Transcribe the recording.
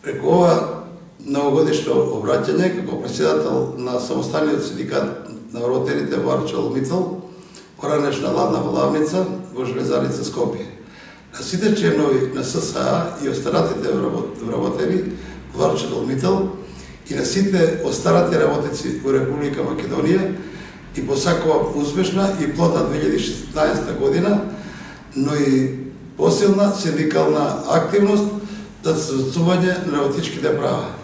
Преку ова новогодишно обраќање како председател на самосталниот синдикат на вработените во ArcelorMittal, поранешна ладна влавница во Железарица Скопје, на сите членови на ССА и останатите вработени во ArcelorMittal и на сите остарати работници во Република Македонија и посакувам успешна и плодна 2016 година, но и посилна синдикална активност за застапување на работничките права.